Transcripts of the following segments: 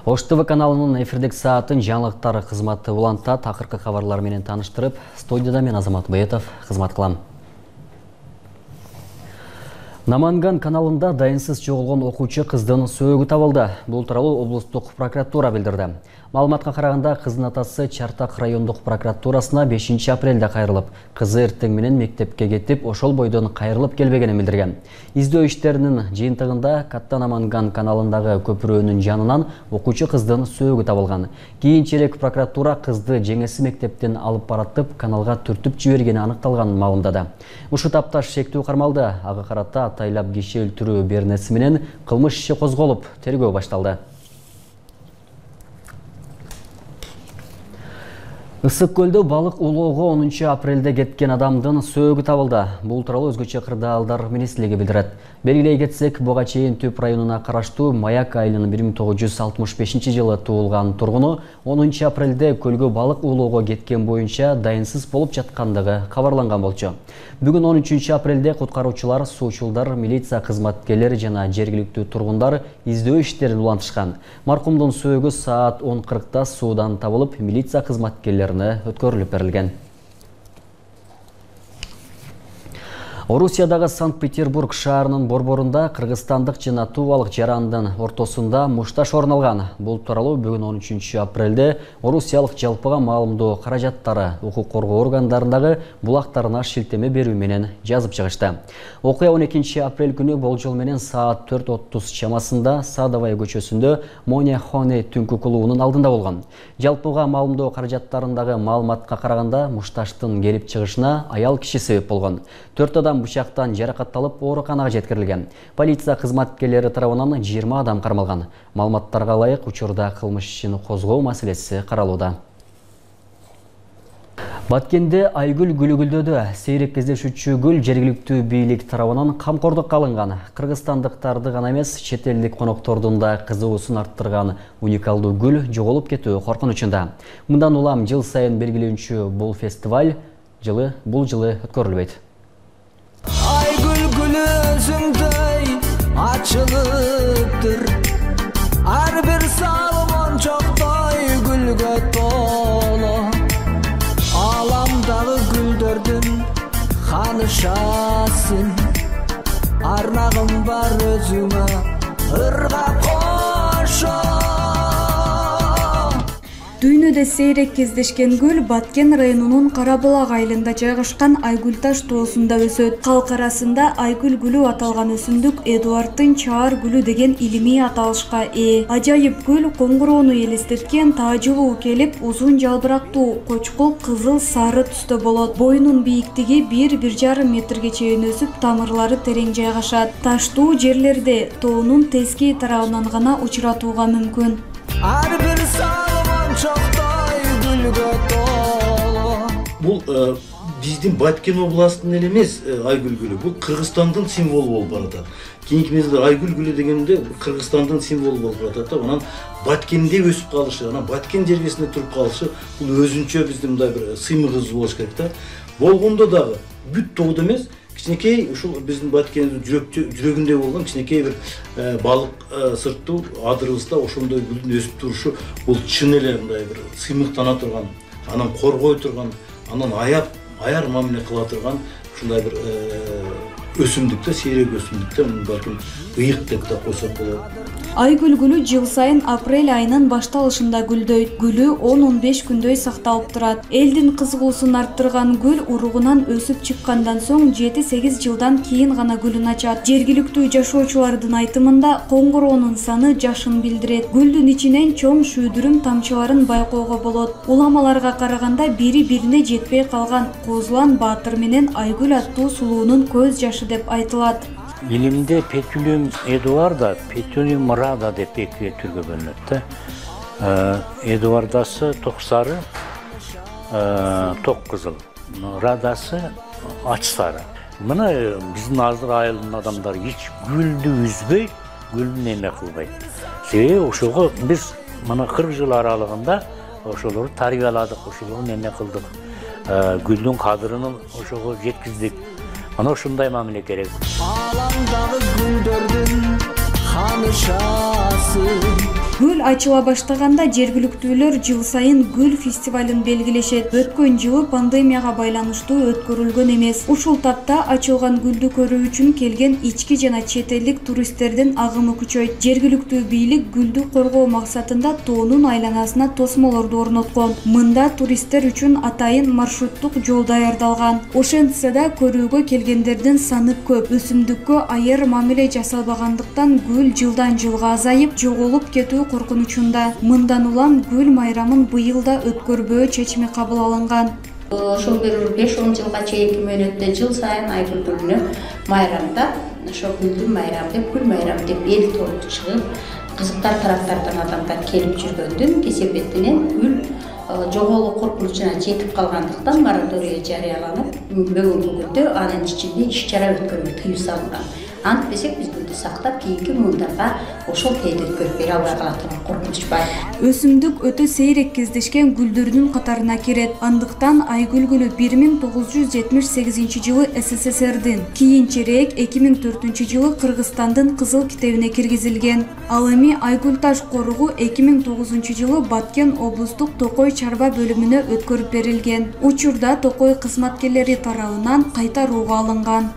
Ош ТВ каналынын эфирдик саатын жаңылыктар кызматы улантат. Акыркы кабарлар менен таныштырып, студияда мен Азамат Баетов кызмат кылам. Наманган каналында дайынсыз жоголгон окуучу кыздын сөөгү табылды. Бул тууралуу облустук прокуратура билдирди. Маалыматка караганда кыздын атасы Чартак райондук прокуратурасына 5 апрелде кайрылып, кызы эртең менен мектепке кетип, ошол бойдон кайрылып келбегенин билдирген. Издөө иштеринин жыйынтыгында Катта Наманган каналындагы көпүрөнүн жанынан окуучу кыздын сөөгү табылган. Кийинчерээк прокуратура кызды жеңеси мектептен алып баратып, каналга түртүп жибергени аныкталганын маалымдады. Ушул тапташ шектүү кармалды. Ага карата атайлап киши өлтүрүү бернеси менен кылмыш иши козголуп, тергөө башталды. Ысык көлдө балык улоого 10 апрелде кеткен адамдын сөөгү табылды. Бул тууралуу өзгөчө кырдаалдар министрлиги билдирет. Белгилей кетсек, буга чейин Түп районуна караштуу Маяк айылынын 1965-жылы туулган тургуну 10 апрелде көлгө балык улоого кеткен боюнча дайынсыз болуп жаткандыгы кабарланган болчу. Бүгүн 13 апрелде куткаруучулар, суучулдар, милиция кызматкерлери жана жергиликтүү тургундар издөө иштерин улантышкан. Маркумдун сөөгү саат 10:40 суудан табылып, милиция кызматкерлерине өткөрүлүп берилген. Орусиядагы Санкт-Петербург шаарынын борборунда кыргызстандык жана тувалык жарандын ортосунда мушташ орун алган. Бул тууралуу бүгүн 13 апрелде Орусиялык жалпыга маалымдоо каражаттары укук коргоо органдарындагы булактарына шилтеме берүү менен жазып чыгышты. Окуя 12 апрель күнү болжол менен саат 4:30 чамасында Садовая көчөсүндө Моня Хоне түнкү клубунун алдында болгон. Жалпыга маалымдоо каражаттарындагы маалыматка караганда мушташтын келип чыгышына аял киши себеп болгон. 4 адам бычактан жаракатталып ооруканага жеткирилген. Полиция кызматкерлери тарабынан 20 адам кармалган. Маалыматтарга ылайык учурда кылмыш ишин козгоо маселеси каралууда. Баткенде Айгүл гүлү гүлдөдү. Сейрек кездешүүчү гүл жергиликтүү бийлик тарабынан камкордукка алынган. Кыргызстандыктарды гана эмес, чет элдик коноктордун да кызыгуусун арттырган уникалдуу гүл жоголуп кетүү коркунучунда. Мындан улам жыл сайын белгиленүүчү бул фестиваль бул жылы өткөрүлбөйт. Айгүл гүлү өзүңдөй ачылыптыр, ар бир салмон чоктой гүлгө толо. Аламдагы гүлдөрдүн ханышасың, арнагым бар өзүңө ырга кошо. Дүйнөдө сейрек кездешкен гүл Баткен районунун Карабулак айылында жайгашкан Айгүлташ тоосунда өсөт. Калк арасында Айгүл гүлү аталган өсүмдүк Эдуарддын чаар гүлү деген илимий аталышка ээ. Ажайып гүл коңгуроону элестеткен таажылуу келип, узун жалбырактуу, кочкул кызыл сары түстө болот. Боюнун бийиктиги 1–1,5 метрге чейин өсүп, тамырлары терең жайгашат. Таштуу жерлерде тоонун тезки тарабынан гана учуратууга мүмкүн. Бул биздин Баткен областынын эле эмес Айгүл гүлү, бул Кыргызстандын символу болуп баратат. Кийинки мезгилде Айгүл гүлү дегенде Кыргызстандын символу болуп баратат да, анан Баткенде өсүп калышы, анан Баткен жергесинде туруп калышы бул өзүнчө биздин мындай бир сыймыгыбыз болуш керек да. Болгондо дагы бүт тоодо эмес, кичинекей ушул биздин Баткендин жүрөгүндө болгон кичинекей бир балык сырттуу адырыбызда ошондой гүлдүн өсүп турушу бул чын эле мындай бир сыймыктана турган, анан коргой турган, анан аяр мамиле кыла турган ушундай бир өсүмдүктө, сейрек өсүмдүктө балким ыйык деп да койсок болот. Айгүл гүлү жыл сайын апрель айынын башталышында гүлдөйт. Гүлү 10–15 күндөй сакталып турат. Элдин кызыгуусун арттырган гүл уругунан өсүп чыккандан соң 7–8 жылдан кийин гана гүлүн ачат. Жергиликтүү жашоочулардын айтымында коңгуроонун саны жашын билдирет. Гүлдүн ичинен чоң шүйдүрүм тамчыларын байкоого болот. Уламаларга караганда бири-бирине жетпей калган Козулан Баатыр менен Айгүл аттуу сулуунун көз жашы деп айтылат. Илимде Петюлиум Эдуарда, Петюлиум Рада деп эки түргө бөлүнөт да. Эдуардасы ток сары, ток кызыл, Радасы ач сары. Мына биздин азыр айылдын адамдары эч гүлдү үзбөй, гүлдүн эме кылбайт. Себеби ошого биз мына 40 жыл аралыгында ошолорду тарбияладык, ошолорду эме кылдык. Гүлдүн кадырын ошого жеткиздик. Ана ушундай мамиле керек. Аламдагы гүлдөрдүн ханышасы Гүл ачыла баштаганда жергиликтүүлөр жыл сайын гүл фестивалын белгилешет. Өткөн жылы пандемияга байланыштуу өткөрүлгөн эмес. Ушул тапта ачылган гүлдү көрүү үчүн келген ички жана чет элдик туристтердин агымы күчөйт. Жергиликтүү бийлик гүлдү коргоо максатында тоонун айланасына тосмолорду орноткон. Мында туристтер үчүн атайын маршруттук жол даярдалган. Ошентсе да көрүүгө келгендердин саны көп. Өсүмдүккө айыр мамиле жасалбагандыктан гүл жылдан жылга азайып, жоголуп кетүү коркунучунда. Мындан улам гүл майрамын быйыл да өткөрбөө чечими кабыл алынган. Ошол бир 5-10 жылга чейинки мөөнөттө жыл сайын айгүл гүлүнө майрамда ошо гүлдүн майрамы деп, гүл майрамы деп эл толук чыгып, кызыктар тараптардан адамдар келип жүргөндүн кесепетинен гүл жоголуу коркунучуна жетип калгандыктан мораторий жарыяланып, бүгүнкү күндө анын ичинде иш-чара өткөрүүгө тыюу салынган. Антпесек биз гүлдү сактап, кийинки муундарга ошол тээди өткөрүп бере албай калатыган коркунуч бар. Өсүмдүк өтө сейрек кездешкен гүлдөрдүн катарына кирет. Андыктан айгүл гүлү 1978 жылы СССРдин, кийинчерээк 2004 жылы Кыргызстандын кызыл китебине киргизилген. Ал эми айгүл таш коругу 2009 жылы Баткен облустук Токой чарба бөлүмүнө өткөрүп берилген. Учурда Токой кызматкерлери тарабынан кайтарууга алынган.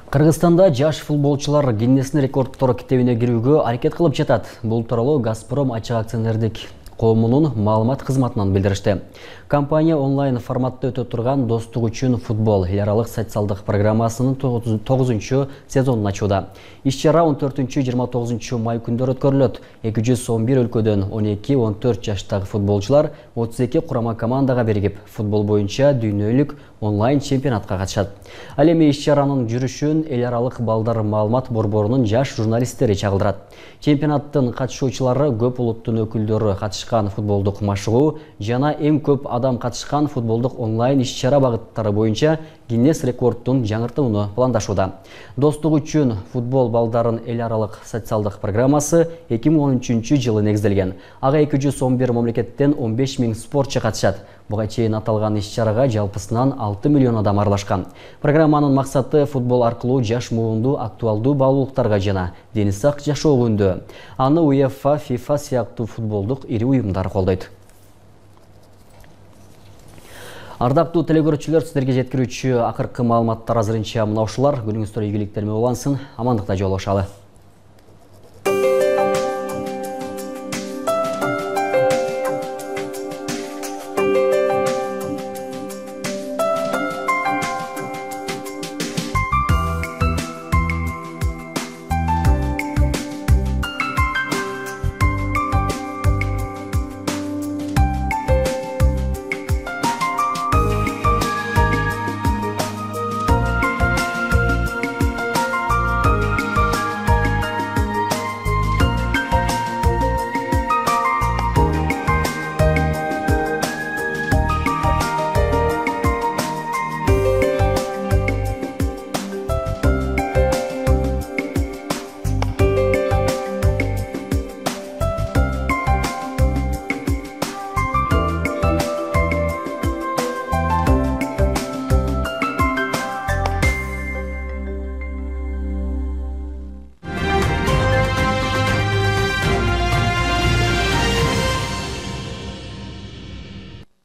Кыргызстанда жаш футболчулар Гиннестин рекордтор китебине кирүүгө аракет кылып жатат. Бул тууралуу Газпром ачык акционердик коомунун маалымат кызматынан билдиришти. Компания онлайн форматта өтө турган достук үчүн футбол эл аралык социалдык программасынын 9 сезонун ачууда. Иш-чара 14-29 май күндөрү өткөрүлөт. 211 өлкөдөн 12-14 жаштагы футболчулар 32 курама командага биригип, футбол боюнча дүйнөлүк онлайн чемпионатка катышат. Ал эми иш-чаранын жүрүшүн эл аралык балдар маалымат борборунун жаш журналисттери чагылдырат. Чемпионаттын катышуучулары көп улуттун өкүлдөрү катышкан футболдук машыгуу жана эң көп адам катышкан футболдук онлайн иш-чара багыттары боюнча Гиннес рекордтун жаңыртууну пландашууда. Достук үчүн футбол балдарын эл аралык социалдык программасы 2013 жылы негизделген. Ага 211 мамлекеттен 15 000 спортчу катышат. Буга чейин аталган иш-чарага жалпысынан 6 миллион адам аралашкан. Программанын максаты футбол аркылуу жаш муунду актуалдуу баалуулуктарга жана дени сак жашоого үндөө. Аны УЕФА, ФИФА сыяктуу футболдук ири уюмдар колдойт. Ардактуу телекөрүүчүлөр, сиздерге жеткирүүчү акыркы маалыматтар азырынча мына ушулар. Күнүңүздөр ийгиликтер менен улансын. Амандыкта жолугушалы.